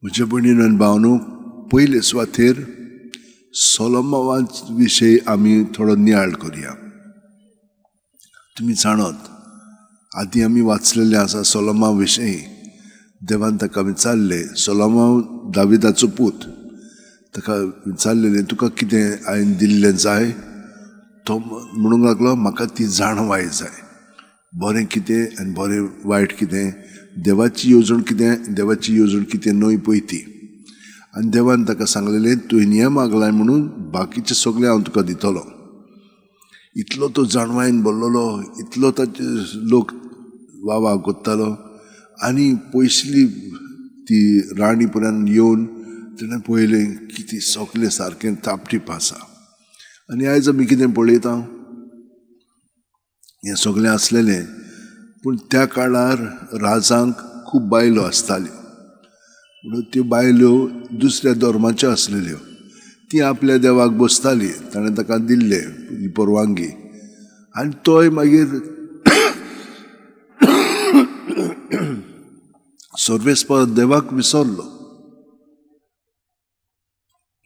म्हज्या भयणीन आनी भावनो, पयले सुवातेर सोलोमावा विशयी आमी थोडो नियाळ करुया. तुमी जाणत आदी आमी वाचलेलें आसा सोलोमा विशयी. देवान ताका विचारलें, सोलोमाव दाविदाचो पूत, ताका विचारलेलें तुका कितें हांवें दिल्लें जाय? तो म्हणूंक लागलो म्हाका ती जाणवाय जाय, बरें कितें आनी बरें वायट कितें, देवाची येवजण कितें, देवाची येवजण कितें न्हय पळय ती. आनी देवान ताका सांगलेलें तुवें हें मागलाय म्हणून बाकीचें सगळें हांव तुका दितलो. इतलो तो जाणवायन भरलेलो, इतलो ताचे लोक वावा कोत्तालो आनी पयसली ती राणी पर्यंत येवन ताणें पळयलें की ती सगळें सारकें तापटीप आसा. आनी आयज आमी कितें पळयता, हें सगळें आसलेलें. पूण त्या काळार राजांक खूब बायलो आसताल्यो, म्हणून त्यो बायलो दुसऱ्या धर्माच्यो आसलेल्यो. ती आपल्या देवाक बसताली, ताणें ताका दिल्ले ही परवानगी. आनी तोय मागीर सर्वेस्पर देवाक विसरलो.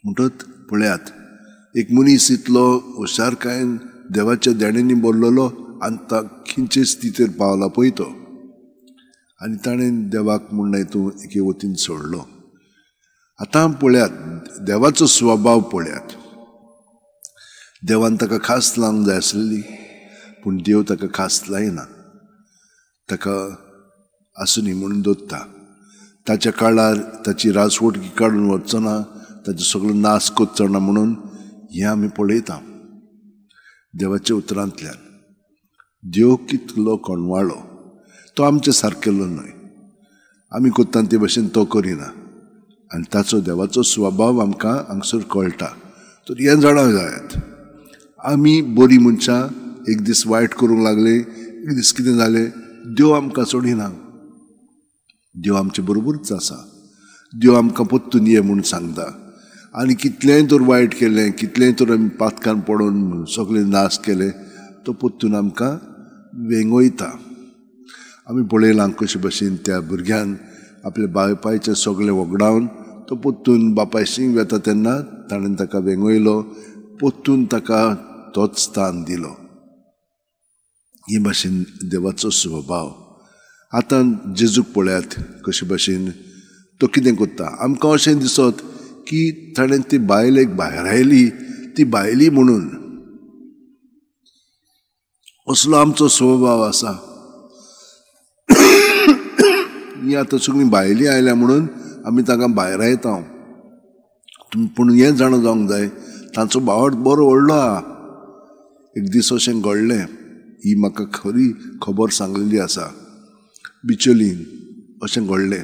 म्हणटच पळयात, एक मनीस इतलो हुशारकायेन देवाच्या देण्यांनी भरलेलो आनी ता खंयचे स्थितीर पावला पळय तो. आनी ताणें देवाक म्हणलें तूं एके वतीन सोडलो. आतां पळयात देवाचो स्वभाव पळयात. देवान ताका खास लावंक जाय आसलेली, पूण देव ताका खास लायना, ताका आसुनी म्हणून दवरता. ताच्या काळार ताची राजवटकी काडून वचचो ना, ताचो सगळो नाश करचो ना म्हणून हें आमी पळयता देवाच्या उतरांतल्यान. देव कितलो कोणवाळो, तो आमचे सारकेलो न्हय, आमी करता ते भशेन तो करिना. आनी ताचो देवाचो स्वभाव आमकां हांगसर कळटा. तर हें जाणा जायात, आमी बरीं मनशां एक दीस वायट करूंक लागले, एक दीस कितें जालें, देव आमकां सोडिना, देव आमचे बरोबरूच आसा. देव आमकां परतून ये म्हूण सांगता. आनी कितलेंय तर वायट केलें, कितलेंय तर आमी पातकान पडून सगळें नाश केलें, तो परतून आमकां वेंगयता. आमी पळयलां कशे भशेन त्या भुरग्यान आपल्या बापायचें सगळें वगडावन तो परतून बापायशी वेता तेन्ना ताणें ताका वेंगयलो, परतून ताका तोच स्थान दिलो. हे भाशेन देवाचो स्वभाव. आतां जेजूक पळयात कशे भशेन तो कितें करता. आमकां अशें दिसत की ताणें ती बायलेक भायरायली, ती बायली म्हणून असलो आमचो स्वभाव आसा. ही आतां सगळीं भायली आयल्या म्हणून आमी तांकां भायरायता. पूण हें जाणा जावंक जाय तांचो भावार्थ बरो व्हडलो आहा. एक दीस अशें घडलें, ही म्हाका खरी खबर सांगलेली आसा. बिचोलीन अशें घडलें,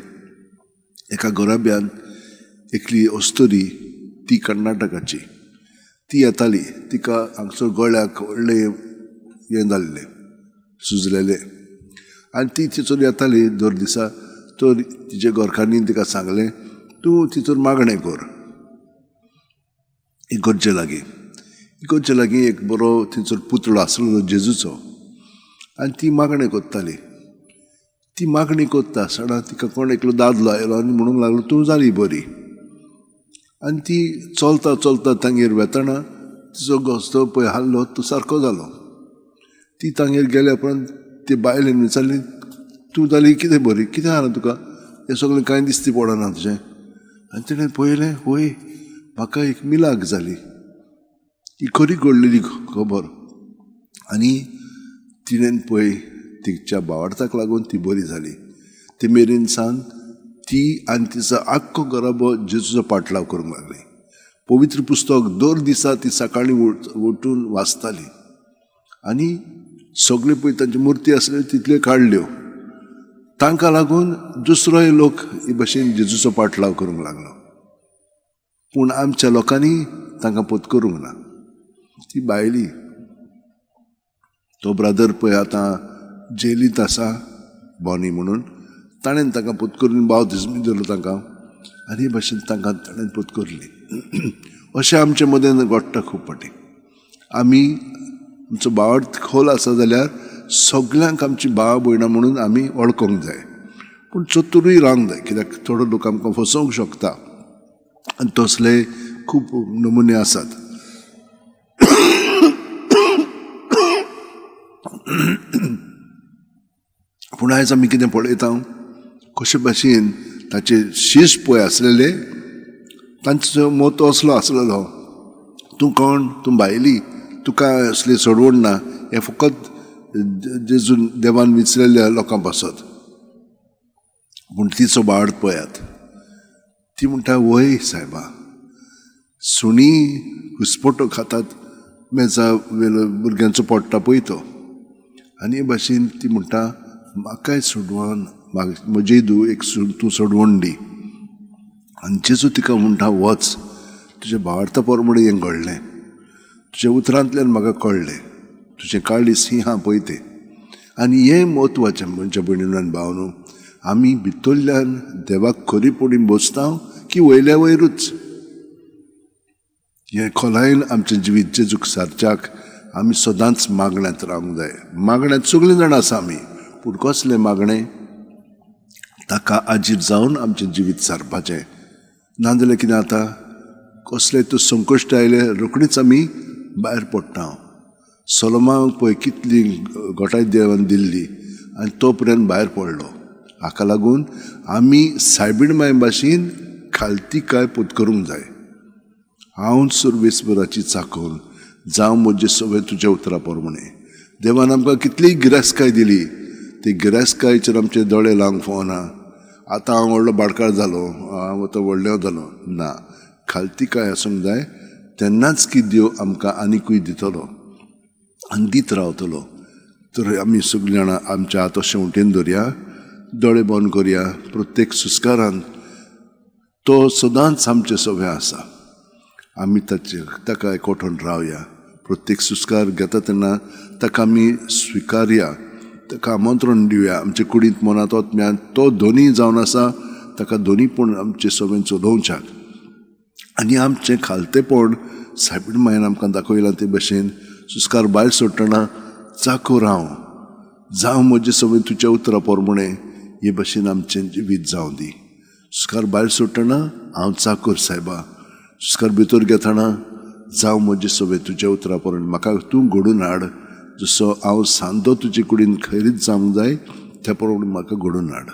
एका घराब्यान एकली अस्तुरी, ती कर्नाटकाची, ती येताली. तिका हांगसर गळ्याक व्हडलें हें जाल्लें, सुजलेलें. आनी ती थंयसर येताली दर दिसा. तर तिच्या घरकान्नीन तिका सांगलें तूं थंयसर मागणें कर इगर्जे लागीं. इगर्जे लागीं एक बरो थंयसर पुतळो आसलो जेजूचो, आनी ती मागणें करताली. ती मागणी करता आसतना तिका कोण एकलो दादलो आयलो आनी म्हणूंक लागलो तूं जाली बरी. आनी ती चलता चलता तांगेर वेतना तिचो घोस्तो पळय हाल्लो, तो सारको जालो. ती तांगेर गेल्या उपरांत ती बायलेन विचारली तूं जाली कितें बरी, कितें जालां तुका, हें सगळें कांय दिसती पडना तुजें. आनी तिणें पळयलें, होय म्हाका एक मिलाग जाली, ही खरी घडलेली खबर. आनी तिणें पळय तिच्या भावार्थाक लागून ती बरी जाली. ते मेरेन सावन ती आनी तिचो आख्खो घराबो जेजूचो पाटलाव करूंक लागली. पवित्र पुस्तक दर दिसा ती सकाळीं उठून वाचताली आनी सगळे पळय तांची मुर्ती आसल्यो तितल्यो काडल्यो. तांकां लागून दुसरोय लोक हे भशेन जेजूचो पाटलाव करूंक लागलो. पूण आमच्या लोकांनी तांकां पोत करूंक ना. ती बायली, तो ब्रदर पळय आतां जेलींत आसा बॉनी म्हणून, ताणें तांकां पोत करून बावतिज्म दिलो तांकां आनी हे भशेन तांकां ताणें पोत करली. अशें आमचे मदें घडटा खूब फावटी. आमी आमचो भावार्थ खोल आसा जाल्यार सगल्यांक आमची भाव भयणां म्हणून आमी वळखूंक जाय. पूण चतुरूय रावंक जाय, कित्याक थोडो लोक आमकां फसोवंक शकता आनी तसले खूब नमुने आसात. पूण आयज आमी कितें पळयता, कशे भाशेन ताचे शीश पळय आसलेले, तांचो मत असलो आसलेलो, तूं कोण, तूं भायली, तुका असली सोडवण ना, हें फकत जेजून देवान विचलेल्या लोकां पासत. पूण तिचो बाळ पळयात, ती म्हणटा, वय सायबा, सुणी घुसपटो खातात मेजा वेलो भुरग्यांचो पडटा पळय तो. आनी हे भाशेन ती म्हणटा, म्हाकाय सोडवण, म्हजी धूव एक तूं सोडवण दी. आनी जेजू तिका म्हणटा, वच, तुज्या भावार्था प्रमाणें हें घडलें, तुज्या उतरांतल्यान म्हाका कळ्ळें, तुजें काळीज ही हांव पळय तें. आनी हें म्हत्वाचें म्हज्या भयणीन आनी भावनो, आमी भितरल्यान देवाक खरीपणी बसता की वयल्या वयरूच हें खोलायेन आमचें जिवीत जेजूक सारच्याक आमी सदांच मागण्यांत रावंक जाय. मागण्यांत सगळीं जाणां आसा आमी, पूण कसलें मागणें, ताका आजीर जावन आमचें जिवीत सारपाचें. नाजाल्यार कितें जाता, कसलें तूं संकश्ट आयलें रोखडीच आमी भायर पडटा. सोलोमाक पळय कितली घोटाय देवान दिल्ली आनी तो पर्यंत भायर पडलो. हाका लागून आमी सायबीण माय भाशेन खालती काय पोत करूंक जाय. हांव सुरवेसभराची चाखोवन जावं म्हजे सगळें तुज्या उतरा प्रमाणें. देवान आमकां कितलीय गिरेस्तकाय दिली, ती गिरेस्तकायेचेर आमचे दोळे लावंक फावना. आतां हांव व्हडलो बाडकार जालो, हांव आतां व्हडलो जालो, ना, खालती काय आसूंक जाय, तेन्नाच की देव आमकां आनिकूय दितलो आनी दीत रावतलो. तर आमी सगळीं जाणां आमच्या हात अशें उटेन धरया, दोळे बंद करया. प्रत्येक सुस्कारान तो सदांच आमचें सगळें आसा, आमी ताचे ताका एकवटून रावया. प्रत्येक सुस्कार घेता तेन्ना ताका आमी स्विकारया, ताका आमंत्रण दिवया. आमचे कुडींत मनांत आत्म्यांत तो दोनी जावन आसा, ताका दोनीपण आमचें सगळें चलोवच्याक. आनी आमचें खालतेपण सायबीण मायन आमकां दाखयलां ते भशेन सुस्कार भायर सोडटना चाखो राव, जावं म्हजें सगळें तुज्या उतरा प्रमाणें, हे भशेन आमचें जिवीत जावं दी. सुस्कार भायर सोडटना हांव चाकोर सायबा, सुस्कार भितर घेतना जावं म्हजें सगळें तुज्या उतरा प्रमाणें, म्हाका तूं घडून हाड, जसो हांव सांदो तुजे कुडीन खैरीत जावंक जाय त्या प्रमाणे म्हाका घडून हाड.